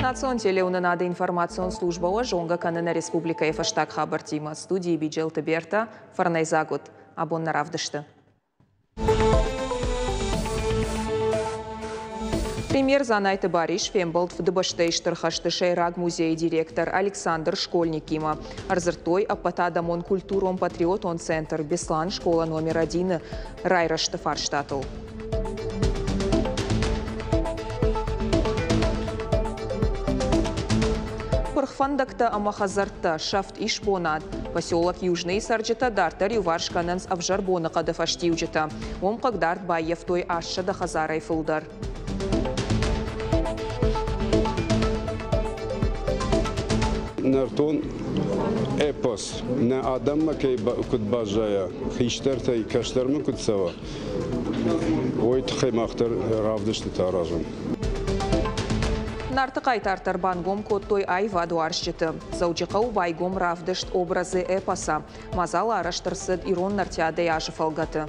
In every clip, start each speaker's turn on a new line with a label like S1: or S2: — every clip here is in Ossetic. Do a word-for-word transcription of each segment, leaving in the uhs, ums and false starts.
S1: Национ телеуынынады информацион службӕ уӕ зонгӕ кӕны нӕ республикӕйы фӕстаг хабӕрттимӕ. Студийы Биджелты Берта, фӕрнӕйдзаг ут. Абон нӕ равдысты. Премьер Дзанайты Барис фембӕлд Фыдыбӕстӕйы Стыр хӕсты сӕйраг музейы директор Александр Школьникимӕ. Ӕрдзырдтой ӕппӕтадӕмон культурон-патриотон центр Беслан школа номер один-ы райрӕзты фарстатыл. Пырх фӕндӕгтӕ ӕмӕ хӕдзӕрттӕ, сӕфт исбонад. Поселок Южныйы цӕрджытӕ дарддӕр иуварс кӕнынц ӕвзӕр боныхъӕды фӕстиуджытӕ. Уым хъыгдард баййӕфтой астсӕдӕ хӕдзарӕй фылдӕр.
S2: Нӕртон эпос нӕ адӕммӕ кӕй куыд баззайа, хистӕртӕй кӕстӕрмӕ куыд цӕуа, уый тыххӕй мах дӕр равдыстытӕ аразӕм.
S1: Нарты хъайтартӕ ӕрбангом кодтой аивадуарзджыты. Дзӕуджыхъӕуы байгом равдыст «Образы эпоса». Мадзал арӕзт ӕрцыд ирон нартиадӕйы азы фӕлгӕты.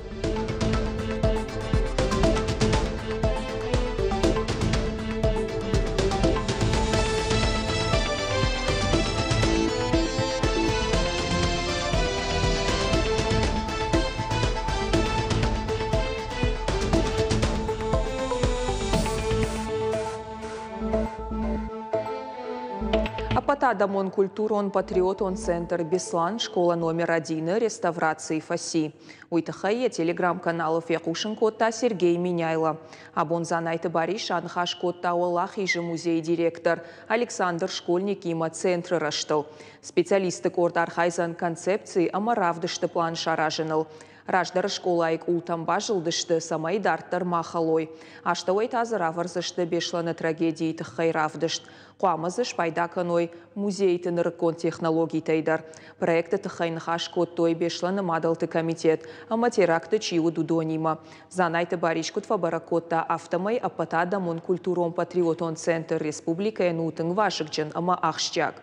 S1: Ӕппӕтадӕмон культурон-патриотон центр Беслан школа номер один-ы реставраци фӕци. Уый тыххӕй йӕ телеграм-каналы фехъусын кодта Сергей Меняйло. Абон Дзанайты Барис аныхас кодта Уӕлахизы музейы директор Александр Школьникимӕ центры рӕзтыл. Специалистты къорд архайдзӕн концепци ӕмӕ равдысты план саразыныл. Раздӕры скъолайы къултӕм базылдысты, цӕмӕй дарддӕр ма хӕлой. Астӕуӕй та дзы равӕрдзысты Беслӕны трагедийы тыххӕй равдыст. Хъуамӕ дзы спайда кӕной музейты нырыккон технологитӕй дӕр. Проекты тыххӕй ныхас кодтой Беслӕны мадӕлты комитет ӕмӕ теракты чи уыд, уыдонимӕ. Дзанайты Барис куыд фӕбӕрӕг кодта, афтӕмӕй ӕппӕтадӕмон культурон-патриотон центр республикӕйӕн у тынг вазыгджын ӕмӕ ахсджиаг.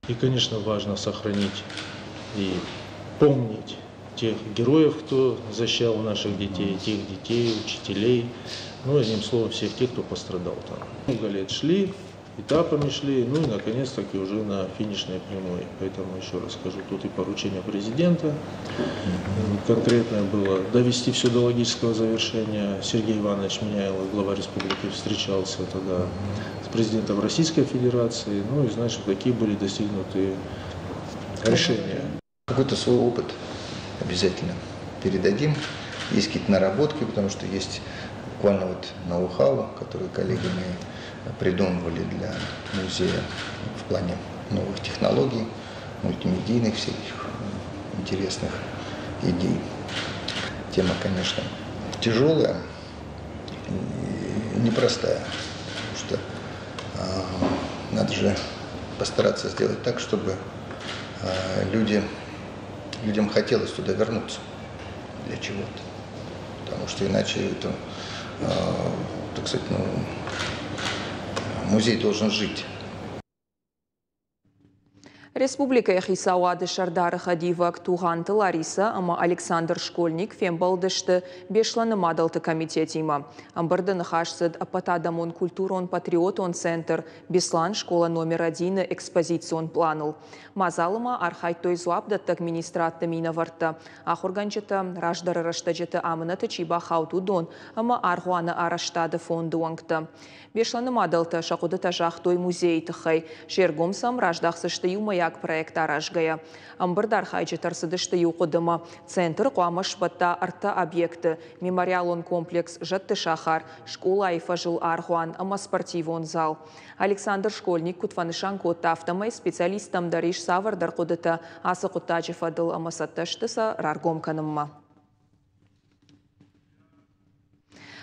S3: И, конечно, важно сохранить и помнить тех героев, кто защищал наших детей, тех детей, учителей, ну, одним словом, всех тех, кто пострадал там. Много лет шли, этапами шли, ну и наконец-таки уже на финишной прямой. Поэтому еще раз скажу, тут и поручение президента конкретное было довести все до логического завершения. Сергей Иванович Меняйло, глава республики, встречался тогда с президентом Российской Федерации, ну и значит, какие были достигнуты решения.
S4: Какой-то свой опыт обязательно передадим. Есть какие-то наработки, потому что есть буквально вот ноу-хау, который коллеги мои придумывали для музея в плане новых технологий, мультимедийных всяких интересных идей. Тема, конечно, тяжелая и непростая, потому что э, надо же постараться сделать так, чтобы э, люди, людям хотелось туда вернуться для чего-то, потому что иначе это, э, так сказать, ну, музей должен жить.
S1: Республикӕйы хицауады сӕрдары хӕдивӕг Тугъанты Лариса ӕмӕ Александр Школьник фембӕлдысты Беслӕны мадӕлты комитетимӕ. Ӕмбырды ныхас цыд ӕппӕтадӕмон культурон-патриотон центр Беслан школа номер один-ы экспозицион планыл. Мадзалы ма архайдтой дзуапдӕттӕг министрадты минӕвӕрттӕ, ахуыргӕнджытӕ, раздӕры рӕстӕджыты амынӕты чи бахауд, уыдон ӕмӕ аргъуаны арӕзтады фонды уӕнгтӕ. Беслӕны мадӕлтӕ сӕ хъуыдытӕ загътой музейы тыххӕй. Се ргом сӕм раздахдзысты иумӕйаг проект аразгӕйӕ. Ӕмбырды архайджытӕ ӕрцыдысты иу хъуыдымӕ. Центр хъуамӕ сбӕтта ӕртӕ объекты: мемориалон комплекс Зӕдты сахар, скъолайы фӕзыл аргъуан ӕмӕ спортивон зал. Александр Школьник куыд фӕнысан кодта, афтӕмӕй специалисттӕм дӕр ис цавӕрдӕр хъуыдытӕ ацы хъуыддаджы фӕдыл ӕмӕ цӕттӕ сты сӕ раргом кӕнынмӕ.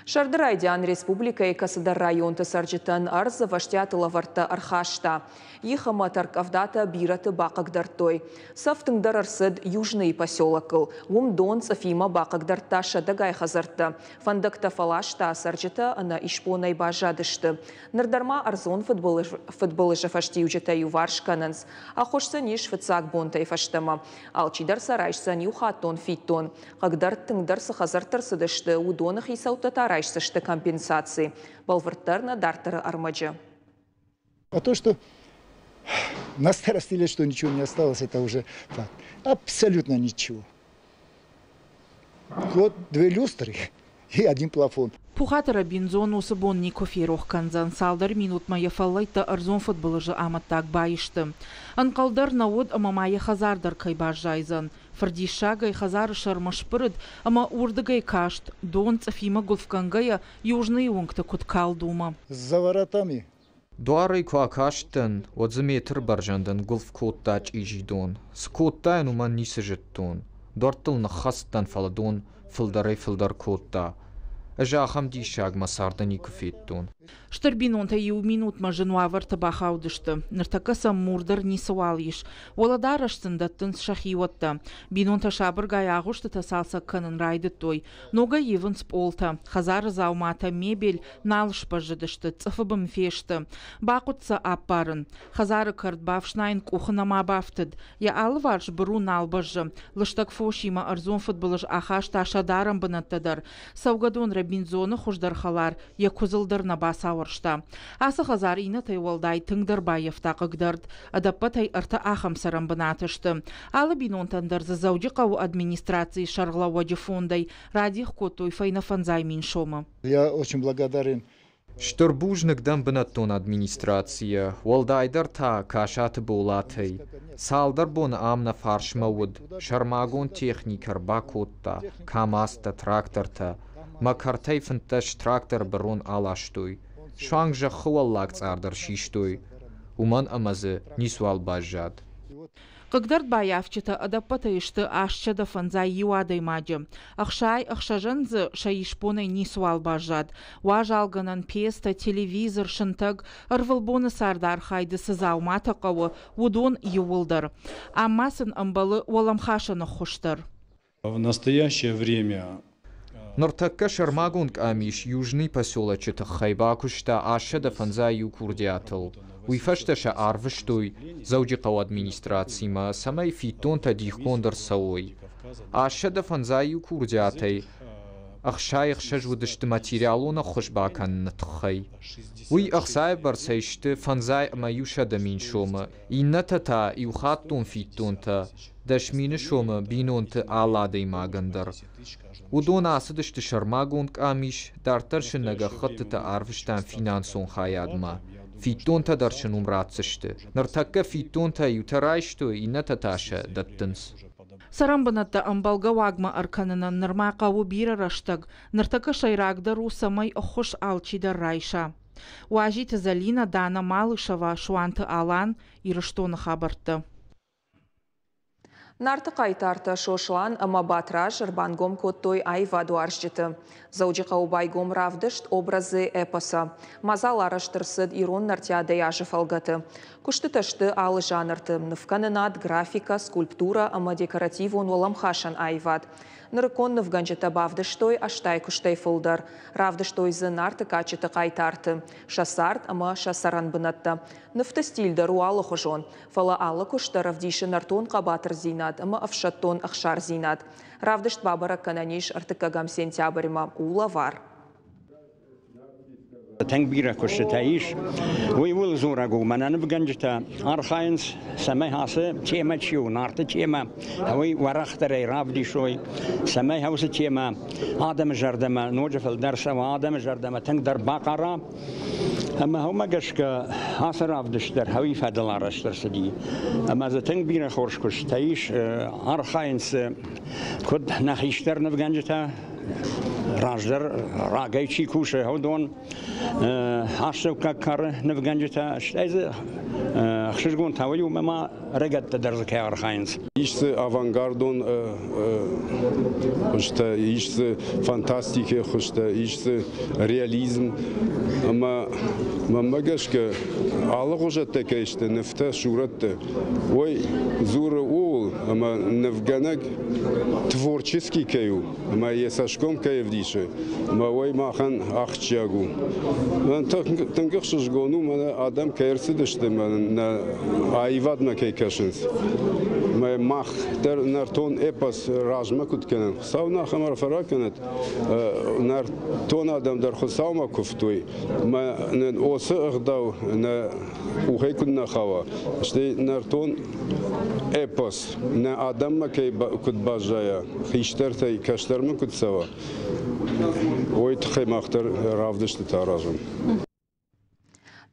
S1: Сӕрды райдиан республикӕйы кӕцыдӕр районты цӕрджытӕн ӕрдз ӕвӕстиаты лӕвӕрттӕ ӕрхаста. Их ӕмӕ тӕрккъӕвдатӕ бирӕты бахъыгдардтой. Цӕф тынгдӕр ӕрцыд Южныйы поселокыл. Уым дон цъыфимӕ бахъыгдардта сӕдӕгай хӕдзӕрттӕ. Фӕндӕгтӕ фӕласта, цӕрджытӕ ӕнӕ исбонӕй баззадысты. Ныр дӕр ма ӕрдзон фыдбылызы фӕстиуджытӕ иуварс кӕнынц. Ӕххуыс сын ис фыццаг бонтӕй фӕстӕмӕ. Алчидӕр сӕ райсдзӕн иухаттон фиддон. Хъыгдард тынгдӕр цы хӕдзӕртты ӕрцыдысты, уыдоны хицӕуттӕ та райсдзысты компенсаци. Бӕлвырддӕр нӕ дарддӕры ӕрмӕджы.
S5: А то, что на старости лет, что ничего не осталось, это уже факт. Абсолютно ничего. Вот две люстры и один плафон.
S6: Пухаты Робинзон уыцы бон никуы ферох кӕндзӕн. Цалдӕр минутмӕ йӕ фӕллӕйттӕ ӕрдзон фыдбылызы амӕттаг баисты. Ӕнхъӕл дӕр нӕ уыд, ӕмӕ ма йӕ хӕдзар дӕр кӕй баззайдзӕн. Фырдиссагӕй хӕдзары сӕрмӕ сбырыд ӕмӕ уырдыгӕй каст, дон цъыфимӕ гуылфгӕнгӕйӕ Южныйы уынгты куыд калд, уымӕ.
S5: За воротами.
S7: Дуарӕй куы акасттӕн, уӕд дзы метр бӕрзӕндӕн гуылф кодта чъизи дон. Цы кодтаин, уымӕн ницы зыдтон. Дуӕрттыл ныххӕцыдтӕн, фӕлӕ дон фылдӕрӕй-фылдӕр кодта. Ӕз ахӕм диссаг мӕ царды никуы федтон.
S6: Стыр бинонтӕ иу минутмӕ зын уавӕрты бахаудысты. Ныртӕккӕ сӕм мур дӕр ницыуал ис. Уӕлӕдарӕс сын дӕттынц сӕхиуӕттӕ. Бинонтӕ сабыргай агъуыстытӕ цалцӕг кӕнын райдыдтой. Ногӕй ивынц пъолтӕ. Хӕдзары дзауматӕ, мебель нал сбӕззыдысты, цъыфы бын фесты. Бахъуыд сӕ аппарын. Хӕдзары кӕрт бафснайын къухы нӕма бафтыд. Йӕ алыварс быру нал бӕззы. Лыстӕг фосимӕ ӕрдзон фыдбылыз ахаста сӕ дарӕн бынӕттӕ дӕр. Цӕугӕдон Робинзоны хуыздӕр хӕлар йӕ куыдзыл дӕр нӕ бацауӕрста. Ацы хӕдзар иннӕтӕй уӕлдай тынгдӕр баййӕфта хъыгдард. Ӕдӕппӕтӕй ӕртӕ ахӕм цӕрӕн бынаты сты. Алы бинонтӕн дӕр дзы Дзӕуджыхъӕуы администрацийы сӕргълӕууӕджы фондӕй радих кодтой фӕйнӕ фӕндзай мин сомы.
S5: Я очень благодарен.
S7: Стыр бузныг дӕн бынӕттон администрацийӕ, уӕлдайдӕр та Касаты Болатӕй. Цалдӕр боны ам нӕ фарсмӕ уыд, сӕрмагонд техникӕ ӕрбакодта, КАМАЗтӕ, трактортӕ. Мӕ кӕртӕй фынддӕс трактор бырон аластой. Суанг зӕххы уӕллаг цъар дӕр систой, уымӕн ӕмӕ дзы ницуал баззад.
S6: Хъыгдард баййафджытӕ ӕдӕппӕтӕй сты астсӕдӕ фӕндзай иу адӕймаджы. Ӕхсай ӕхсӕзӕн дзы сӕ исбонӕй ницыуал баззад. Уазалгӕнӕн пецтӕ, телевизор, сынтӕг, ӕрвылбоны цардархайды цы дзауматӕ хъӕуы, уыдон иууылдӕр. Ам ма сын ӕмбӕлы уӕлӕмхасӕн ӕххуыс дӕр.
S8: В настоящее время
S7: Ныртӕккӕ сӕрмагонд къамис Южный поселочы тыххӕй бакуыста астсӕдӕ фӕндзай иу курдиатыл. Уый фӕстӕ сӕ арвыстой Дзӕуджыхъӕуы администрацимӕ, цӕмӕй фиддонтӕ дихгонд ӕрцӕуой. Астсӕдӕ фӕндзай иу курдиатӕй ӕхсай ӕхсӕз уыдысты материалон ӕххуыс бакӕныны тыххӕй. Уый ӕхцайы бӕрцӕй сты фӕндзай ӕмӕ иусӕдӕ мин сомы, иннӕтӕ та иухаттон фиддонтӕ дӕс мины сомы бинонты алы адӕймагӕн дӕр. Уыдон ацыдысты сӕрмагонд къамис, дарддӕр сын нӕ гӕххӕттытӕ арвыстам финансон хайадмӕ. Фиддонтӕ дӕр сын уым ратдзысты. Ныртӕккӕ фиддонтӕ иутӕ райстой, иннӕтӕ та сӕ дӕттынц.
S6: Цӕрӕнбынӕттӕ ӕмбӕлгӕ уагмӕ ӕркӕнынӕн нырма хъӕуы бирӕ рӕстӕг. Ныртӕккӕ сӕйрагдӕр у, цӕмӕй ӕххуыс алчидӕр райса. Уазиты Залина, Дана Малышева, Суанты Алан, Ирыстоны хабӕрттӕ.
S1: Нарты хъайтартӕ Сослан ӕмӕ Батраз ӕрбангом кодтой аивадуарзджыты. Дзӕуджыхъӕуы байгом равдыст «Образы эпоса». Мадзал арӕзт ӕрцыд ирон нартиадӕйы азы фӕлгӕты. Куыстытӕ сты алы жанрты: нывкӕнынад, графикӕ, скульптурӕ ӕмӕ декоративон уӕлӕмхасӕн аивад. Нырыккон нывгӕнджытӕ бавдыстой ӕстай куыстӕй фылдӕр. Равдыстой дзы Нарты кадджыты хъайтарты, сӕ цард ӕмӕ сӕ цӕрӕнбынӕттӕ. Нывты стиль дӕр у алыхуызон, фӕлӕ алы куыст дӕр ӕвдисы нӕртон хъӕбатырдзинад ӕмӕ ӕфсӕддон ӕхсардзинад. Равдыст бабӕрӕг кӕнӕн ис ӕртыккӕгӕм сентябрьмӕ. У лӕвар.
S9: Тынг бирӕ куыстытӕ ис. Уый ууыл дзурӕг у, мӕнӕ нывгӕнджытӕ архайынц, цӕмӕй ацы темӕ чи у, Нарты темӕ, уый уӕрӕхдӕрӕй равдисой, цӕмӕй уыцы темӕ адӕмы зӕрдӕмӕ ноджы фылдӕр цӕуа, адӕмы зӕрдӕмӕ тынгдӕр бахъара. Ӕмӕ уымӕ гӕсгӕ ацы равдыст дӕр уый фӕдыл арӕзт ӕрцыди. Ӕмӕ дзы тынг бирӕ хорз куыстытӕ ис, архайынц куыд нӕ хистӕр нывгӕнджытӕ, раздӕр рагӕй чи кусы, уыдон, астӕуккаг кары нывгӕнджытӕ, стӕй дзы ӕхсызгон та уый у, ӕмӕ ма ӕрыгӕттӕ дӕр дзы кӕй архайынц.
S2: Ис дзы авангардон хуызтӕ, ис дзы фантастикӕйы хуызтӕ, ис дзы реализм. Ӕмӕ мӕнмӕ гӕсгӕ алыгъуызӕттӕ кӕй сты нывтӕ, сурӕттӕ, уый дзуры ууыл, ӕмӕ нывгӕнӕг творческий кӕй у, ӕмӕ йӕ цӕсгом кӕй ӕвдисы, ӕмӕ уый махӕн ахсджиаг у. Тынг ӕхсызгон у, мӕнӕ адӕм кӕй ӕрцыдысты, мӕнӕ нӕ аивадмӕ кӕй кӕсынц. Мах дӕр нӕртон эпос размӕ куыд кӕнӕм, Хуыцау нӕ ахӕм арфӕ ракӕнӕд, нӕртон адӕм дӕр Хуыцаумӕ куывтой, ӕмӕ нын уыцы ӕгъдау нӕ къухӕй куыд нӕ хауа, стӕй нӕртон эпос нӕ адӕммӕ кӕй куыд баззайа, хистӕртӕй кӕстӕрмӕ куыд цӕуа, уый тыххӕй мах дӕр равдыстытӕ аразӕм.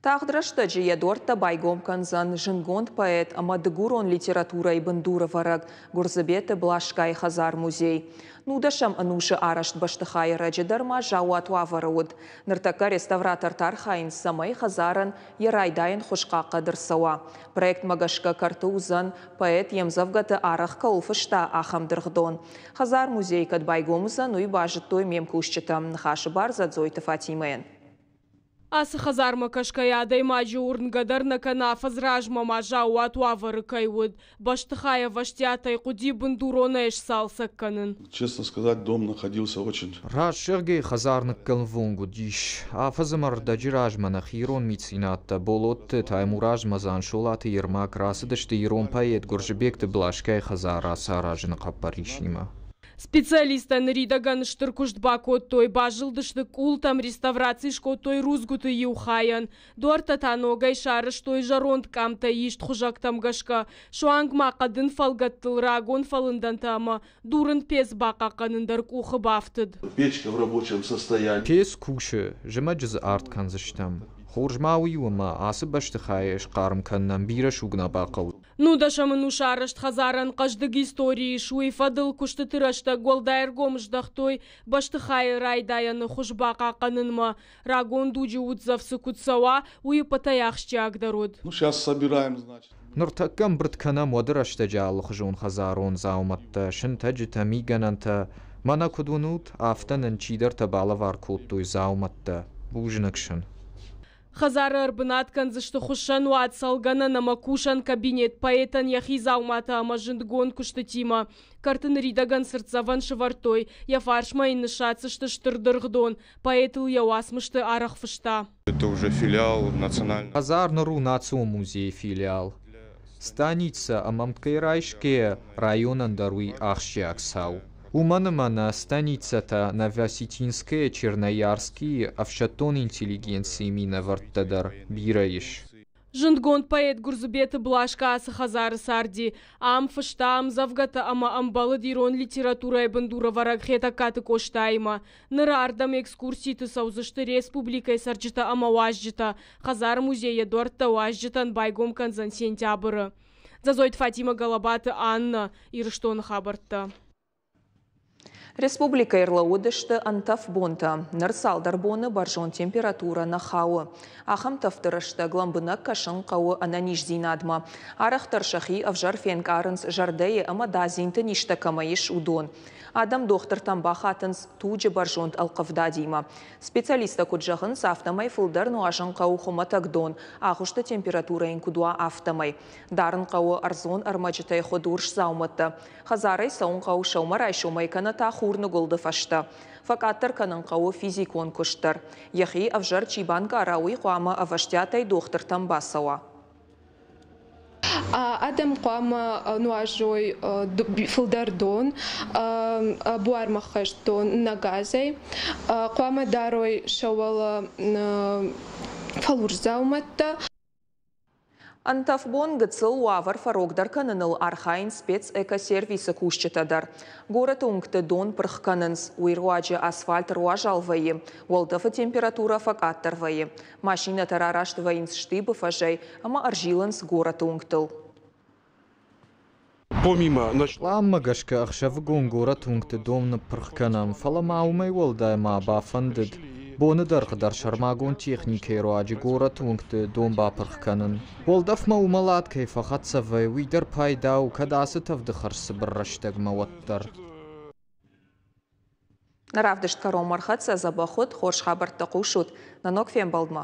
S1: Тагъд рӕстӕджы йӕ дуӕрттӕ байгом кӕндзӕн зындгонд поэт ӕмӕ дыгурон литературӕйы бындурӕвӕрӕг Гуырдзыбеты Блашкайы хӕдзар-музей. Нудӕсӕм ӕнусы арӕзт бӕстыхайы раджы дӕр ма заууат уавӕры уыд. Ныртӕккӕ реставратортӕ архайынц, цӕмӕй хӕдзарӕн йӕ райдайӕн хуыз хъахъхъӕд ӕрцӕуа. Проектмӕ гӕсгӕ кӕрты уыдзӕн, поэт йе мдзӕвгӕты арӕх кӕуыл фыста, ахӕм дыргъдон. Хӕдзар-музей кӕд байгом уыдзӕн, уый базыдтой ме мкусджытӕ. Ныхасы бар Дзӕдзойты Фатимӕйӕн.
S10: Ацы хӕдзармӕ кӕсгӕйӕ адӕймаджы уырнгӕ дӕр нӕ кӕны, афӕдз размӕ ма заууат уавӕры кӕй уыд. Бӕстыхай ӕвӕстиатӕй хъуыди бындуронӕй сцалцӕг кӕнын.
S11: Честно сказать, дом находился очень...
S7: Раст зӕгъгӕйӕ, хӕдзар ныккӕлӕнвонг уыдис. Афӕдз ӕмӕ ӕрдӕджы размӕ нӕхи ирон меценаттӕ Болатты Таймураз ӕмӕ Дзансолаты Ермак рацыдысты ирон поэт Гуырдзыбегты Блашкайы хӕдзар рацаразыны хъӕппӕрисимӕ.
S10: Специалисттӕ ныридӕгӕн стыр куыст бакодтой, базылдысты къултӕм, реставраци скодтой рудзгуыты иу хайӕн. Дуӕрттӕ та ногӕй сарӕзтой зӕронд къамтӕ ист хуызӕгтӕм гӕсгӕ. Суанг ма хъӕдын фӕлгӕттыл рагон фӕлындӕнтӕ ӕмӕ дурын пец бахъахъхъӕнын дӕр къухы бафтыд.
S11: Печка в рабочем состоянии.
S7: Пец кусы, зымӕджы дзы арт кӕндзыстӕм. Хорз ма уый у, ӕмӕ ацы бӕстыхайы схъарм кӕнынӕн бирӕ суг нӕ бахъӕуы.
S10: Нудӕсӕм ӕнусы арӕзт хӕдзарӕн хъӕздыг истори ис, уый фӕдыл куыстыты рӕстӕг уӕлдай ӕргом здӕхтой бӕстыхайы райдайӕны хуыз бахъахъхъӕнынмӕ. Рагон дуджы уддзӕф цы куыд цӕуа, уый ӕппӕтӕй ахсджиагдӕр уыд.
S11: Ну, сейчас собираем, значит.
S7: Ныртӕккӕ ӕмбырд кӕнӕм уӕды рӕстӕджы алыхуызон хӕдзарон дзаумӕттӕ, сынтӕджытӕ, мигӕнӕнтӕ. Мӕнӕ куыд уынут, афтӕ нын чидӕртӕ балӕвар кодтой дзаумӕттӕ. Бузныг сын.
S10: Хӕдзары ӕрбынат кӕндзысты хуыссӕнуат, цӕлгӕнӕн ӕмӕ кусӕн кабинет поэтӕн йӕхи дзауматӕ ӕмӕ зындгонд куыстытимӕ. Кӕрты ныридӕгӕн цыртдзӕвӕн сывӕрдтой, йӕ фарсмӕ йын ныссадздзысты стыр дыргъдон. Поэтыл йӕ уацмысты арӕх фыста.
S12: Это уже филиал национального.
S7: Хӕдзар ныр у национ музейы филиал. Станицӕ ӕмӕ ӕмткӕй райсгӕйӕ районӕн дӕр уый ахсджиаг цау. Уымӕн ӕмӕ нӕ станицӕтӕ Новоосетинская, Черноярскийы ӕфсӕддон интеллигенцийы минӕвӕрттӕ дӕр бирӕ ис.
S10: Зындгонд поэт Гуырдзыбеты Блашка ацы хӕдзары царди. Ам фыста ӕмдзӕвгӕтӕ ӕмӕ ӕмбӕлыд ирон литературӕйы бындурӕвӕрӕг Хетӕгкаты Къостаимӕ. Ныр ардӕм экскурситы цӕудзысты республикӕйы цӕрджытӕ ӕмӕ уазджытӕ. Хӕдзар-музей йӕ дуӕрттӕ уазджытӕн байгом кӕндзӕн сентябры. Дзӕдзойты Фатимӕ, Галабаты Анна, Ирыстоны хабӕрттӕ.
S1: Республикӕйы ӕрлӕууыдысты ӕнтӕф бонтӕ. Ныр цалдӕр боны бӕрзонд температурӕ нӕ хауы. Ахӕм тӕвды рӕстӕг лӕмбынӕг кӕсын хъӕуы ӕнӕниздзинадмӕ. Арӕхдӕр сӕхи ӕвзӕр фенкъарынц зӕрдӕйы ӕмӕ дадзинты низтӕ кӕмӕ ис, уыдон. Адӕм дохтыртӕм бахатынц туджы бӕрзонд ӕлхъывдадимӕ. Специалисттӕ куыд зӕгъынц, афтӕмӕй фылдӕр нуазын хъӕуы хуымӕтӕг дон, агъуысты температурӕ йын куыд уа, афтӕмӕй. Дарын хъӕуы ӕрдзон ӕрмӕджытӕй хуыд урс дзаумӕттӕ. Хӕдзарӕй цӕуын хъӕуы сӕумӕрайсомӕй кӕнӕ та хурныгуылды фӕстӕ. Фӕкъаддӕр кӕнын хъӕуы физикон куыст дӕр. Йӕхи ӕвзӕр чи банкъара, уый хъуамӕ ӕвӕстиатӕй дохтыртӕм бацӕуа.
S13: Адӕм хъуамӕ нуазой фылдӕр дон, буармӕ хӕст дон нӕ газӕй, хъуамӕ дарой сӕ уӕлӕ фӕлурс дзаумӕттӕ.
S1: Ӕнтӕф бон гыццыл уавӕр фӕрогдӕр кӕныныл архайынц спецэкосервисы кусджытӕ дӕр. Горӕты уынгты дон пырх кӕнынц, уый руаджы асфальт ӕруазал вӕййы, уӕлдӕфы температурӕ фӕкъаддӕр вӕййы. Машинӕтӕ рараст вӕййынц Штибы фӕзӕй ӕмӕ ӕрзилынц горӕты уынгтыл.
S7: Пъланмӕ гӕсгӕ ӕхсӕвыгон горӕты уынгты дон ныппырх кӕнӕм, фӕлӕ ма уымӕй уӕлдай ма бафӕндыд боны дӕргъы дӕр сӕрмагонд техникӕйы руаджы горӕты уынгты дон бапырх кӕнын. Уӕлдӕфмӕ уымӕлад кӕй фӕхӕццӕ вӕййы, уый дӕр пайда у, кӕд ацы тӕвды хӕрз цыбыр рӕстӕгмӕ, уӕддӕр.
S1: Нӕ равдыст кӕронмӕ ӕрхӕццӕ, дзӕбӕх ут, хорз хабӕрттӕ хъусут. Нӕ ног фембӕлдмӕ.